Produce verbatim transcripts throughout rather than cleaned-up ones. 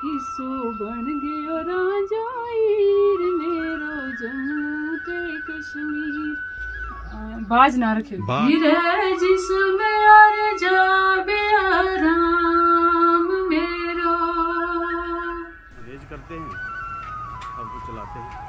حصو بن گیو رانجا ہیر میرو جموں تے کشمیر۔ باز نہ رکھے۔ باز۔ ہیرے جس میں ہر جا بے آرام میرو۔ ریج کرتے ہیں، اب تو چلاتے ہیں۔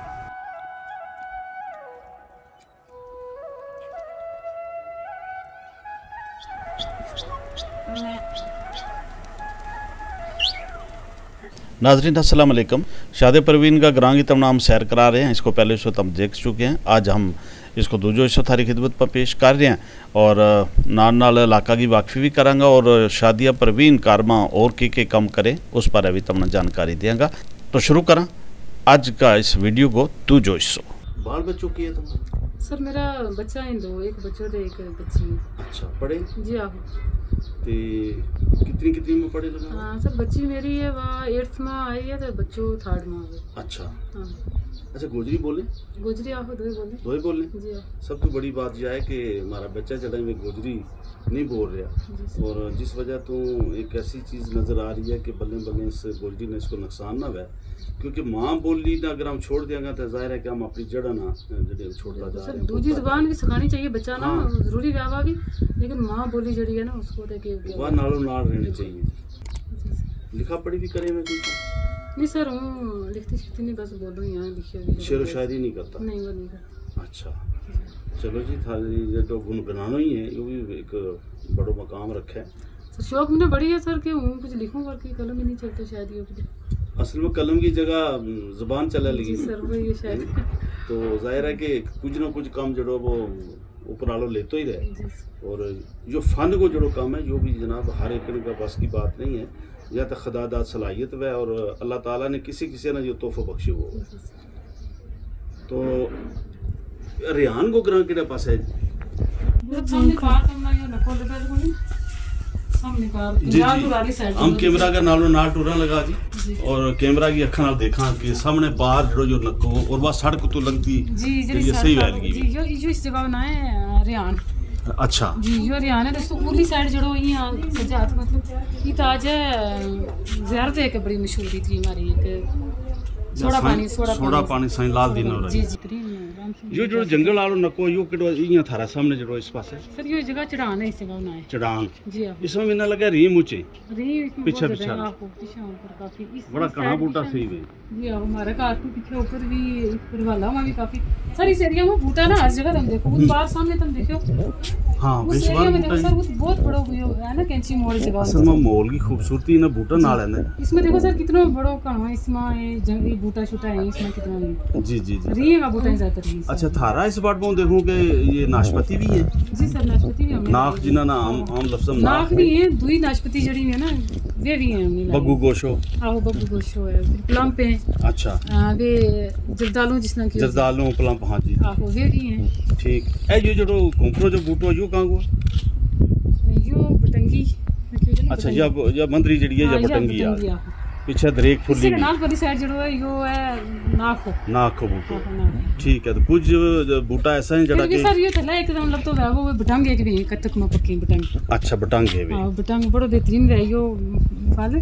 ناظرین السلام علیکم۔ شادی پروین کا گراں کی تمنا ہم سیر کرا رہے ہیں، اس کو پہلے حصو تم دیکھ چکے ہیں۔ آج ہم اس کو دوجو حصو تھاری خدمت پر پیش کر رہے ہیں۔ اور نال نال علاقہ کی واقفی بھی کراں گا اور شادیہ پروین کارماں اور کے کے کم کرے، اس پر بھی تمنا جانکاری دیاں گا۔ تو شروع کراں اج کا اس ویڈیو کو دوجو حصو۔ بال بچو کی ہے تمہارا؟ سر میرا بچہ ہیں دو، ایک بچو تے ایک بچی۔ اچھا، پڑھے؟ جی آہو۔ تے کتنی کتنی میں پڑھے لگا؟ ہاں سر، بچی میری ہے وہ ایٹتھ ما آئی ہے تے بچو تھرڈ ما آئی۔ اچھا۔ ہاں۔ اچھا، گوجری بولے؟ گوجری آہو، دوئی بولے۔ دوئی بولے؟ جی آہو۔ سب تو بڑی بات یہ ہے کہ ہمارا بچہ جڑا ہے وہ گوجری نہیں بول رہا۔ اور جس وجہ تو ایک ایسی چیز نظر آ رہی ہے کہ بلے بلے اس گوجری نے اس کو نقصان نہ ہوئے، کیونکہ ماں بولی نہ اگر ہم چھوڑ دیاں گا تو ظاہر ہے کہ ہم اپنی جڑاں نہ جڑی ہم چھوڑتا جا رہے ہیں۔ دوجی زبان بھی سکھانی چاہیے بچہ نا، ضروری ویاوا بھی، لیکن ماں بولی جڑی ہے نا اس کو وہ نالوں نال رہنی چاہیے۔ لکھا پڑھی بھی کرے میں کوئی؟ نہیں سر، ہوں لکھتی شکھتی نہیں، بس بولوں ہی ہاں، لکھے ہوئے شعر و شاعری نہیں کرتا؟ نہیں، وہ نہیں کرتا۔ اچھا۔ چلو جی، تھاری جو گنگنانو ہی ہے، یہ بھی ایک بڑو مقام رکھا ہے۔ سر شوق میں بڑی ہے سر کہ ہوں کچھ لکھوں، پر کی قلم ہی نہیں چلتا شاید یہ۔ اصل میں قلم کی جگہ زبان چلا لگی۔ سر وہ یہ شاید۔ تو ظاہر ہے کہ کچھ نہ کچھ کام جڑو وہ اوپر آلو لیتو ہی رہے۔ اور جو فن کو جڑو کام ہے، جو بھی جناب ہر ایک کا بس کی بات نہیں ہے، یا تو خدا داد صلاحیت ہوئے اور اللہ تعالیٰ نے کسی کسی نا جو تحفہ بخشے ہو۔ تو ریحان کو گراں کیڑے پاس ہے؟ جی جی، ہم کیمرہ کا نالوں نال ٹورا لگا جی۔ اور کیمرہ کی اکھاں نال دیکھاں کہ سامنے باہر جڑو جو نکو اور وہ سڑک تو لگتی۔ جی جی، یہ صحیح ویل گئی۔ جی یو اس جگہ نا ہے ریحان۔ اچھا جی، یو ریحان ہے۔ دوستو اولی سائیڈ جڑو یہ سجا ہاتھ مطلب یہ تاج ہے، زیارت ہے کہ بڑی مشہور تھی ہماری ایک سوڑا پانی، سوڑا پانی سائیں لال دین ہو رہا ہے۔ جی جی۔ یو جو جنگل آلو نکو یو کڈو یہ تھارا سامنے جڑو اس پاس ہے؟ سر یو جگہ چڑھان ہے، اس جگہ نا ہے چڑھان۔ جی ہاں۔ اس میں مینا لگا ریم اچے۔ ریم پچھے پچھے۔ بڑا کہاں بوٹا صحیح ہے۔ جی ہاں، ہمارا گھر تو پچھے اوپر بھی، اس پر والا وہاں بھی کافی ساری اس ایریا میں بوٹا نا، ہر جگہ تم دیکھو، وہ باہر سامنے تم دیکھو۔ ہاں، اس ایریا میں دیکھو سر، وہ بہت بڑا ویو ہے نا، کینچی موڑ جگہ۔ اصل میں ماحول کی خوبصورتی نا بوٹا نال ہے۔ اس میں دیکھو سر، کتنا بڑا کہاں اس میں جنگلی بوٹا شوٹا ہے، اس میں کتنا نہیں۔ جی جی جی۔ رہی ہے بوٹا زیادہ تر۔ اچھا، تھارا اس بٹ میں دیکھوں کہ یہ ناشپتی بھی ہے؟ جی سر، ناشپتی بھی ہم ناخ جنہاں نا عام لفظ ناخ بھی ہے، دوئی ناشپتی جڑی ہے نا، وہ بھی ہے۔ بگو گوشو۔ آہو، بگو گوشو ہے، پلمپ ہیں۔ اچھا۔ ویہ جردالوں جس نا کہ جردالوں پلمپ، ہاں جی۔ آہو، ویہ بھی ہیں۔ ٹھیک۔ اے یو جڑو گھومپرو جو بوٹو یو کہاں کو؟ یو بٹنگی۔ اچھا، یا مندری جڑی ہے یا بٹنگی آ؟ پچھے دریک پھلی۔ نال پری سائیڈ جڑو ہے یو ہے ناکھو۔ ناکھو بوٹو۔ ٹھیک ہے، تو کچھ بوٹا ایسا ہے جڑا کہ سر یہ تھلا ایک دم لگتا ہے وہ بٹنگ ایک بھی کتک میں پکی بٹنگ۔ اچھا، بٹنگ ہے بھی۔ بٹنگ بڑو بہترین ہے یو۔ پھل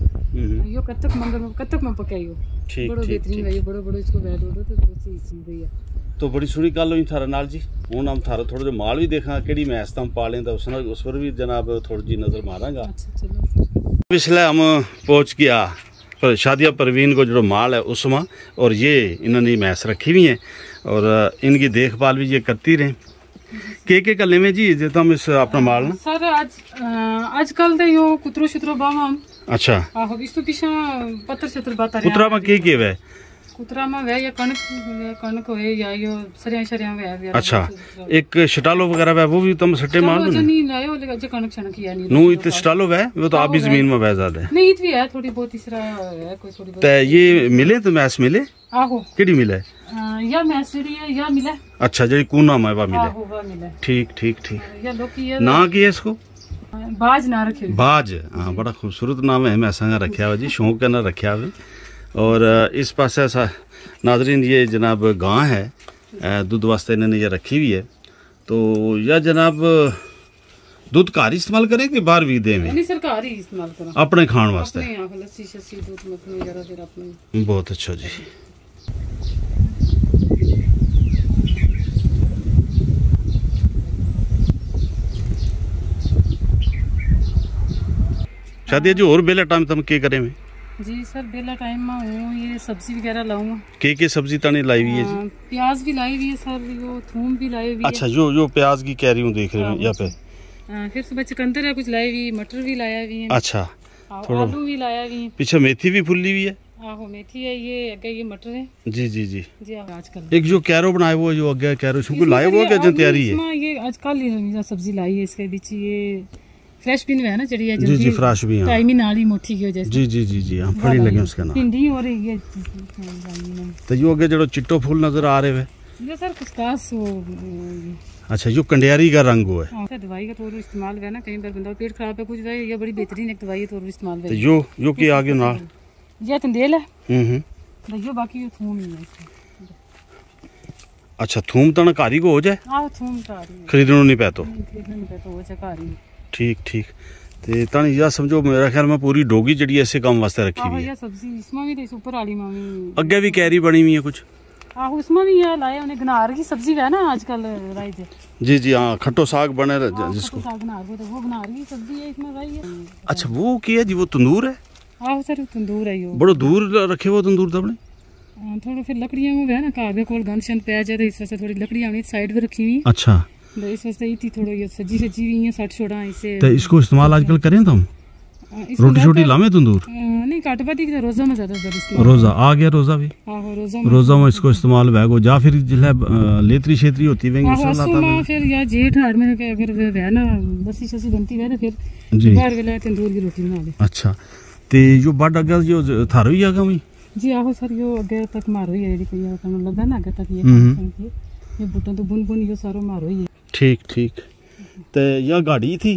یو کتک مندر میں، کتک میں پکے یو۔ ٹھیک بڑو ٹھیک بہترین ہے یو، بڑو بڑو اس کو بیٹھ اڑو تو بڑی صحیح چیز ہے۔ تو بڑی سوہنی گل ہوئی تھارے نال جی۔ ہن ہم تھارا تھوڑا جہا مال بھی دیکھاں کیڑی میں اس تم پالیں تو اس پر بھی جناب تھوڑی جی نظر ماراں گا۔ اچھا چلو۔ پچھلے ہم پہنچ گیا شادیہ پروین کو جو مال ہے اس ما، اور یہ انہوں نے بھینس رکھی ہوئی ہیں اور ان کی دیکھ بھال بھی یہ کرتی رہیں۔ کے کے کلے میں جی جے تم اس اپنا مال نا؟ سر اج اج کل دے یو کترو شترو باواں۔ اچھا۔ آہو، اس تو پیچھے پتر شتر باتا رہیا۔ کترا ما کے کے وے؟ کترا ما وے یا کنک، کنک ہوئے یا یو سریاں شریاں وے۔ اچھا۔ ایک شٹالو وغیرہ وے وہ بھی تم سٹے مال دو؟ نہیں لایا، لیکن اج کنک شنک یا نہیں۔ نو ات شٹالو وے، وہ تو آپ ہی زمین ما وے زیادہ ہے۔ نہیں ات بھی ہے تھوڑی بہت اس طرح ہے کوئی تھوڑی بہت۔ تے یہ ملے تو میس ملے؟ آہو۔ کیڑی ملے؟ یا میس جڑی ہے یا ملے۔ اچھا، جڑی کونا ما ہے وہ ملے۔ آہو وہ ملے۔ ٹھیک ٹھیک ٹھیک۔ یا لوکی ہے۔ ناں کی ہے اس کو؟ باج ناں رکھے۔ باج، ہاں بڑا خوبصورت ناں ہے، میں سنگا رکھیا ہوا جی، شوق کا ناں رکھیا ہوا۔ اور اس پاسے ایسا ناظرین یہ جناب گاں ہے، دودھ واسطے انہوں نے یہ رکھی ہوئی ہے۔ تو یا جناب دودھ گھر ہی استعمال کریں کہ باہر بھی دیں میں؟ نہیں سر، گھر ہی استعمال کریں۔ اپنے کھان واسطے؟ اپنے یہاں لسی شسی، دودھ مکھن وغیرہ پھر اپنے۔ بہت اچھا جی۔ شادی جی، اور بیلا ٹائم تم کے کریں میں؟ جی سر، بیلا ٹائم میں ہوں، یہ سبزی وغیرہ لاؤں۔ کے کے سبزی تانی لائی ہوئی ہے جی؟ پیاز بھی لائی ہوئی ہے سر، وہ تھوم بھی لائی ہوئی ہے۔ اچھا، یو یو پیاز کی کہہ رہی ہوں، دیکھ رہی ہوں یہاں پہ۔ ہاں، پھر صبح چکندر ہے کچھ لائی ہوئی، مٹر بھی لایا ہوئی ہے۔ اچھا۔ آلو بھی لایا ہوئی ہے۔ پیچھے میتھی بھی پھلی ہوئی ہے۔ آہو، میتھی ہے، یہ اگے یہ مٹر ہے۔ جی جی جی۔ جی آج کل ایک جو کیرو بنایا ہوا ہے، جو اگے کیرو شو کو لایا ہوا ہے کہ جن تیاری ہے؟ یہ آج کل ہی سبزی لائی ہے، اس کے بیچ یہ فریش بین ہے نا، چڑی ہے جی جی، فریش بین۔ ٹائم ہی نال ہی موٹھی کی وجہ سے۔ جی جی جی جی، ہاں، پھڑی لگے اس کا نام۔ بھنڈی ہو رہی ہے۔ تو یو اگے جڑو چٹو پھول نظر آ رہے ہوئے؟ یہ سر کسکاس ہو۔ اچھا، یو کنڈیاری کا رنگ ہوا ہے۔ ہاں، دوائی کا طور استعمال ہوا ہے نا، کہیں پر بندہ پیٹ خراب ہے کچھ ہے، یہ بڑی بہترین ایک دوائی ہے، طور استعمال ہوا ہے۔ یو یو کی آگے نال؟ یہ تندیل ہے۔ ہوں ہوں۔ یو باقی یو تھوم ہی ہے۔ اچھا، تھوم تنا کاری کو ہو جائے؟ ہاں، تھوم کاری ہے۔ خریدنو نہیں پے تو؟ نہیں، خریدنو نہیں پے تو، ہو جائے کاری۔ ٹھیک ٹھیک۔ تے تن یا سمجھو، میرا خیال میں پوری ڈوگی جڑی ایسے کام واسطے رکھی ہوئی ہے۔ سبزی اس میں بھی، اس اوپر آلی میں بھی۔ اگے بھی کیری بنی ہوئی ہے کچھ؟ آہو، اس میں بھی یہ لایا انہیں گنار کی سبزی ہے نا آج کل۔ رائی دے۔ جی جی ہاں، کھٹو ساگ بنے جس کو۔ ساگ گنار کو تو وہ گنار کی سبزی ہے، اس میں رائی ہے۔ اچھا، وہ کیا ہے جی؟ وہ تندور ہے؟ آہو سر، تندور ہے یو۔ بڑو دور رکھے وہ تندور تو اپنے؟ تھوڑا پھر لکڑیاں میں ہے نا، گھر دے کول گند شند پے جائے تو اس واسطے تھوڑی لکڑیاں ہونی سائیڈ پہ رکھی ہوئی ہیں۔ اچھا۔ تو اس واسطے اتنی تھوڑا یہ سجی سجی ہوئی ہیں، سٹ چھوڑا اسے۔ تو اس کو استعمال آج کل کریں تو ہم؟ روٹی شوٹی لاویں تندور؟ نہیں، کٹ بدی کی روزہ میں زیادہ زیادہ استعمال۔ روزہ آ گیا، روزہ بھی۔ روزہ میں اس کو استعمال ہوئے گو، یا پھر جس لے لیتری شیتری ہوتی ہوئیں گی، اس میں پھر یا جیٹھ ہاڑ میں اگر وہ ہے نا، بسی شسی بنتی ہوئے تو پھر جی۔ باہر ویلا تندور کی روٹی بنا لے۔ اچھا۔ تے یو بڈ اگا جو تھارو ہی آگا ہوئی؟ جی آہو سر، یو اگے تک مارو ہی ہے، جی کوئی تمہیں لگا نا اگے تک یہ ہوں۔ کام کی، یہ بوٹوں تو بن بن یو سارو مارو ہی ہے۔ ٹھیک ٹھیک۔ تے یا گاڑی تھی؟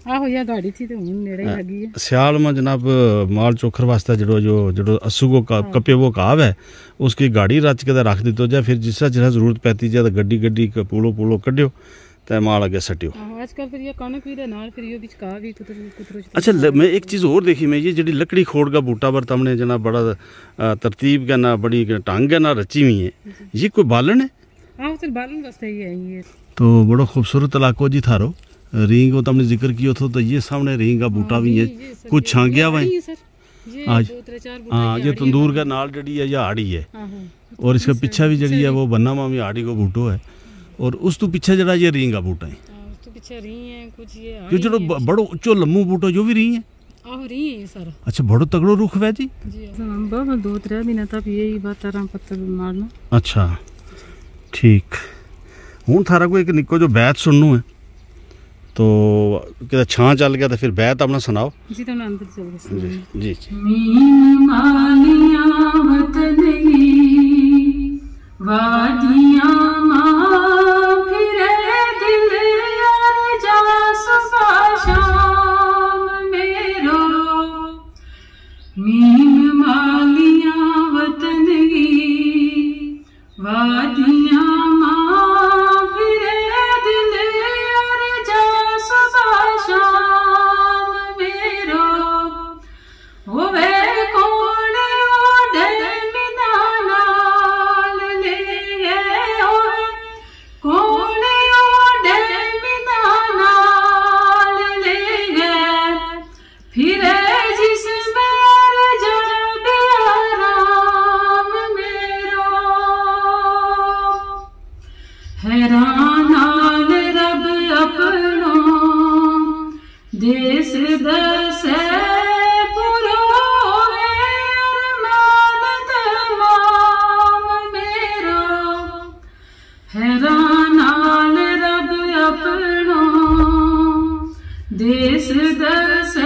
آہو، یا گاڑی تھی تے ہن نیڑے ہی لگی ہے۔ سیال ما جناب، مال چوکھر واسطے جڑو جو جڑو اسو کو کا-، کپے وہ کہاو ہے، اس کی گاڑی رچ کے تے رکھ دیتو جائے، پھر جس طرح جس طرح ضرورت پیتی جائے تو گڈی گڈی پولو پولو کڈیو تے مال اگے سٹیو۔ آج کل پھر یہ کنک بھی دے نال پھر یہ بچ کا بھی کتر کتر۔ اچھا، میں ایک چیز اور دیکھی، میں یہ جڑی لکڑی کھوڑ کا بوٹا پر تم نے جنا بڑا ترتیب کا نا، بڑی ٹنگ کا نا رچی ہوئی ہے، یہ کوئی بالن ہے؟ ہاں سر، بالن واسطے ہی ہے یہ۔ تو بڑو خوبصورت علاقو جی تھارو۔ رینگ کو تم نے ذکر کیو تھو تو یہ سامنے رینگ کا بوٹا بھی ہے، کچھ چھانگیا ہوا ہے۔ ہاں، یہ تندور کا نال جڑی ہے یا آڑی ہے۔ اور اس کا پیچھا بھی جڑی ہے وہ بننا مامی آڑی کو بوٹو ہے۔ اور اس تو پیچھا جڑا یہ رینگ کا بوٹا ہے۔ یہ جڑو بڑو اچو لمو بوٹو جو بھی رینگ ہے۔ آہو رہی ہے یہ سارا۔ اچھا، بڑو تگڑو رخ ہے جی۔ جی ہاں، بابا دو ترے دن تک یہی بات ترا پتر مارنا۔ اچھا، ٹھیک۔ ہوں تھارا کو ایک نکو جو بیت سننو ہے، تو کہتا چھاں چل گیا تو پھر بیت اپنا سناؤ۔ جی تو اندر چل گیا۔ جی جی۔ مین مالیاں وطن ہی وادیاں ماں پھرے دل یار جا صبح شام میرو۔ مین مالیاں وطن ہی وادیاں ماں پھرے دل یار جا صبح شام میرو۔ ہووے کون اوڈے مداں نال لے گئے، ہووے کون اوڈے مداں نال لے گئے، پھرے جس بیر جا بے آرام میرو۔ حیران نال رب اپنو دیس دسے پورو ہے ارمان تمام میرو۔ حیران نال رب اپنو دیس دسے